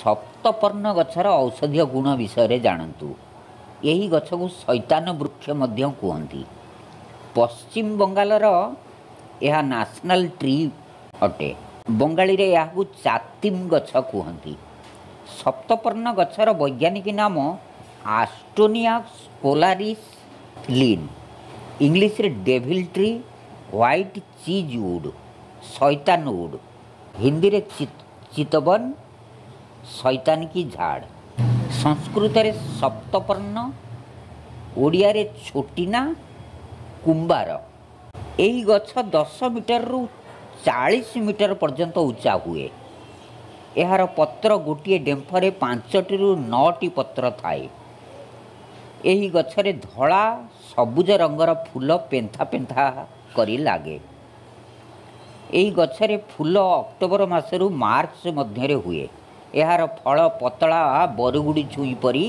ସପ୍ତପର୍ଣ୍ଣ ଗଛର ଔଷଧୀୟ ଗୁଣ ବିଷୟରେ ଜାଣନ୍ତୁ। ଏହି ଗଛକୁ ଶୈତାନ ବୃକ୍ଷ ମଧ୍ୟ କୁହନ୍ତି। ପଶ୍ଚିମ ବଙ୍ଗାଳର ଏହା ନ୍ୟାସନାଲ୍ ଟ୍ରି ଅଟେ। ବଙ୍ଗାଳୀରେ ଏହାକୁ ଚାତିମ ଗଛ କୁହନ୍ତି। ସପ୍ତପର୍ଣ୍ଣ ଗଛର ବୈଜ୍ଞାନିକ ନାମ ଆଷ୍ଟୋନିଆ ସ୍କୋଲାରିସ୍ ଲିନ୍। ଇଂଲିଶରେ devil tree, white cheese wood, ଶୈତାନ ଉଡ୍, ହିନ୍ଦୀରେ ଚିତବନ, ଶୈତାନ କି ଝାଡ଼, ସଂସ୍କୃତରେ ସପ୍ତପର୍ଣ୍ଣ, ଓଡ଼ିଆରେ ଛୋଟିନା, କୁମ୍ବାର। ଏହି ଗଛ 10 ମିଟରରୁ 40 ମିଟର ପର୍ଯ୍ୟନ୍ତ ଉଚ୍ଚା ହୁଏ। ଏହାର ପତ୍ର ଗୋଟିଏ ଡେମ୍ଫରେ 5ଟିରୁ 9ଟି ପତ୍ର ଥାଏ। ଏହି ଗଛରେ ଧଳା ସବୁଜ ରଙ୍ଗର ଫୁଲ ପେନ୍ଥା ପେନ୍ଥା କରି ଲାଗେ। ଏହି ଗଛରେ ଫୁଲ ଅକ୍ଟୋବର ମାସରୁ ମାର୍ଚ୍ଚ ମଧ୍ୟରେ ହୁଏ। ଏହାର ଫଳ ପତଳା ବରଗୁଡ଼ି ଛୁଇଁ ପରି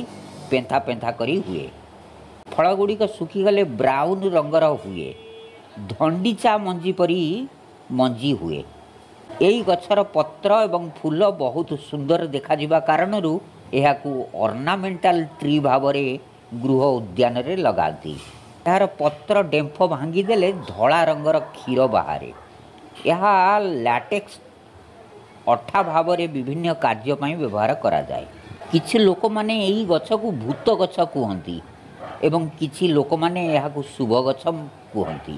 ପେନ୍ଥା ପେନ୍ଥା କରି ହୁଏ। ଫଳଗୁଡ଼ିକ ଶୁଖିଗଲେ ବ୍ରାଉନ୍ ରଙ୍ଗର ହୁଏ। ଧଣ୍ଡିଚା ମଞ୍ଜି ପରି ମଞ୍ଜି ହୁଏ। ଏହି ଗଛର ପତ୍ର ଏବଂ ଫୁଲ ବହୁତ ସୁନ୍ଦର ଦେଖାଯିବା କାରଣରୁ ଏହାକୁ ଅର୍ଣ୍ଣାମେଣ୍ଟାଲ ଟ୍ରି ଭାବରେ ଗୃହ ଉଦ୍ୟାନରେ ଲଗାନ୍ତି। ଏହାର ପତ୍ର ଡେମ୍ଫ ଭାଙ୍ଗିଦେଲେ ଧଳା ରଙ୍ଗର କ୍ଷୀର ବାହାରେ। ଏହା ଲାଟେକ୍ସ ଅଠା ଭାବରେ ବିଭିନ୍ନ କାର୍ଯ୍ୟ ପାଇଁ ବ୍ୟବହାର କରାଯାଏ। କିଛି ଲୋକମାନେ ଏହି ଗଛକୁ ଭୂତ ଗଛ କୁହନ୍ତି ଏବଂ କିଛି ଲୋକମାନେ ଏହାକୁ ଶୁଭ ଗଛ କୁହନ୍ତି।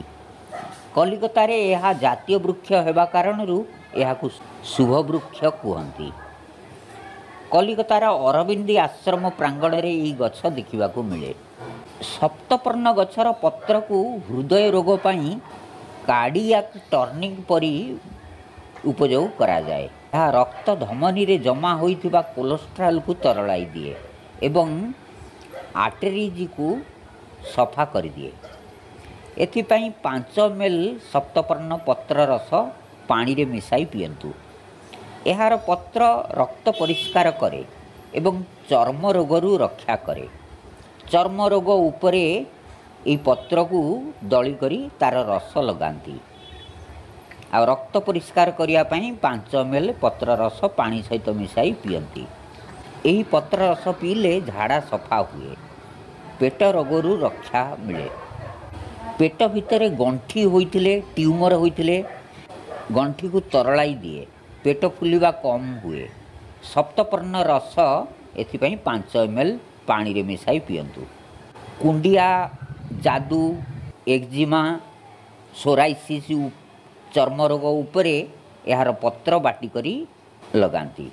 କଲିକତାରେ ଏହା ଜାତୀୟ ବୃକ୍ଷ ହେବା କାରଣରୁ ଏହାକୁ ଶୁଭ ବୃକ୍ଷ କୁହନ୍ତି। କଲିକତାର ଅରବିନ୍ଦୀ ଆଶ୍ରମ ପ୍ରାଙ୍ଗଣରେ ଏହି ଗଛ ଦେଖିବାକୁ ମିଳେ। ସପ୍ତପର୍ଣ୍ଣ ଗଛର ପତ୍ରକୁ ହୃଦୟ ରୋଗ ପାଇଁ କାର୍ଡ଼ିଆକ୍ ଟନିକ୍ ପରି ଉପଯୋଗ କରାଯାଏ। ଏହା ରକ୍ତ ଧମନୀରେ ଜମା ହୋଇଥିବା କୋଲେଷ୍ଟ୍ରଲକୁ ତରଳାଇ ଦିଏ ଏବଂ ଆର୍ଟେରିଜକୁ ସଫା କରିଦିଏ। ଏଥିପାଇଁ 5 ml ସପ୍ତପର୍ଣ୍ଣ ପତ୍ର ରସ ପାଣିରେ ମିଶାଇ ପିଅନ୍ତୁ। ଏହାର ପତ୍ର ରକ୍ତ ପରିଷ୍କାର କରେ ଏବଂ ଚର୍ମ ରୋଗରୁ ରକ୍ଷା କରେ। ଚର୍ମ ରୋଗ ଉପରେ ଏହି ପତ୍ରକୁ ଦଳି କରି ତା'ର ରସ ଲଗାନ୍ତି। ଆଉ ରକ୍ତ ପରିଷ୍କାର କରିବା ପାଇଁ 5 ml ପତ୍ର ରସ ପାଣି ସହିତ ମିଶାଇ ପିଅନ୍ତି। ଏହି ପତ୍ର ରସ ପିଇଲେ ଝାଡ଼ା ସଫା ହୁଏ, ପେଟ ରୋଗରୁ ରକ୍ଷା ମିଳେ। ପେଟ ଭିତରେ ଗଣ୍ଠି ହୋଇଥିଲେ, ଟ୍ୟୁମର ହୋଇଥିଲେ ଗଣ୍ଠିକୁ ତରଳାଇ ଦିଏ, ପେଟ ଫୁଲିବା କମ୍ ହୁଏ। ସପ୍ତପର୍ଣ୍ଣ ରସ ଏଥିପାଇଁ 5 ml ପାଣିରେ ମିଶାଇ ପିଅନ୍ତୁ। କୁଣ୍ଡିଆ, ଯାଦୁ, ଏକ୍ଜିମା, ସୋରାଇସିସ୍ ଚର୍ମ ରୋଗ ଉପରେ ଏହାର ପତ୍ର ବାଟି କରି ଲଗାନ୍ତି।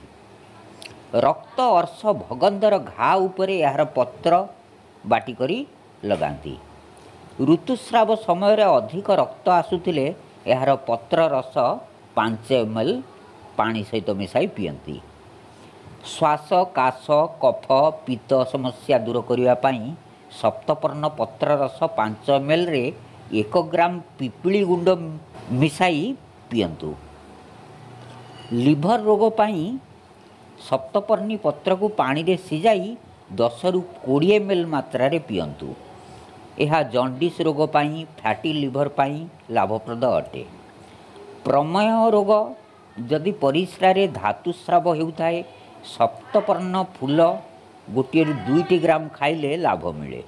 ରକ୍ତ ଅର୍ଶ ଭଗନ୍ଦର ଘା ଉପରେ ଏହାର ପତ୍ର ବାଟି କରି ଲଗାନ୍ତି। ଋତୁସ୍ରାବ ସମୟରେ ଅଧିକ ରକ୍ତ ଆସୁଥିଲେ ଏହାର ପତ୍ର ରସ 5 ml ପାଣି ସହିତ ମିଶାଇ ପିଅନ୍ତି। ଶ୍ୱାସ, କାଶ, କଫ, ପିତ୍ତ ସମସ୍ୟା ଦୂର କରିବା ପାଇଁ ସପ୍ତପର୍ଣ୍ଣ ପତ୍ର ରସ 5 mlରେ 1 ଗ୍ରାମ ପିପିଳି ଗୁଣ୍ଡ ମିଶାଇ ପିଅନ୍ତୁ। ଲିଭର ରୋଗ ପାଇଁ ସପ୍ତପର୍ଣ୍ଣୀ ପତ୍ରକୁ ପାଣିରେ ସିଝାଇ 10ରୁ 20 ml ମାତ୍ରାରେ ପିଅନ୍ତୁ। ଏହା ଜଣ୍ଡିସ୍ ରୋଗ ପାଇଁ, ଫ୍ୟାଟି ଲିଭର ପାଇଁ ଲାଭପ୍ରଦ ଅଟେ। ପ୍ରମେହ ରୋଗ ଯଦି ପରିସ୍ରାରେ ଧାତୁସ୍ରାବ ହେଉଥାଏ, ସପ୍ତପର୍ଣ୍ଣ ଫୁଲ 1ରୁ 2 ଗ୍ରାମ ଖାଇଲେ ଲାଭ ମିଳେ।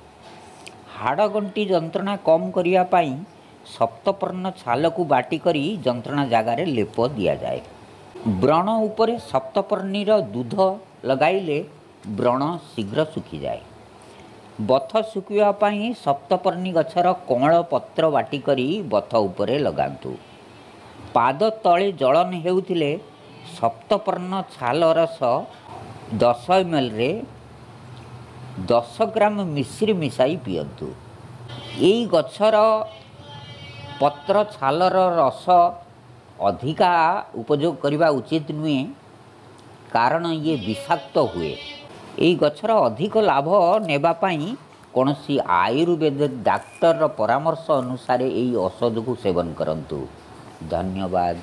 ହାଡ଼ଗଣ୍ଠି ଯନ୍ତ୍ରଣା କମ୍ କରିବା ପାଇଁ ସପ୍ତପର୍ଣ୍ଣ ଛାଲକୁ ବାଟି କରି ଯନ୍ତ୍ରଣା ଜାଗାରେ ଲେପ ଦିଆଯାଏ। ବ୍ରଣ ଉପରେ ସପ୍ତପର୍ଣ୍ଣୀର ଦୁଧ ଲଗାଇଲେ ବ୍ରଣ ଶୀଘ୍ର ଶୁଖିଯାଏ। ବଥ ଶୁଖିବା ପାଇଁ ସପ୍ତପର୍ଣ୍ଣୀ ଗଛର କଅଁଳ ପତ୍ର ବାଟି କରି ବଥ ଉପରେ ଲଗାନ୍ତୁ। ପାଦ ତଳେ ଜଳନ ହେଉଥିଲେ ସପ୍ତପର୍ଣ୍ଣ ଛାଲ ରସ 10 mlରେ 10 ଗ୍ରାମ ମିଶ୍ରି ମିଶାଇ ପିଅନ୍ତୁ। ଏଇ ଗଛର ପତ୍ର ଛାଲର ରସ ଅଧିକା ଉପଯୋଗ କରିବା ଉଚିତ ନୁହେଁ, କାରଣ ଇଏ ବିଷାକ୍ତ ହୁଏ। ଏହି ଗଛର ଅଧିକ ଲାଭ ନେବା ପାଇଁ କୌଣସି ଆୟୁର୍ବେଦ ଡାକ୍ତରର ପରାମର୍ଶ ଅନୁସାରେ ଏହି ଔଷଧକୁ ସେବନ କରନ୍ତୁ। ଧନ୍ୟବାଦ।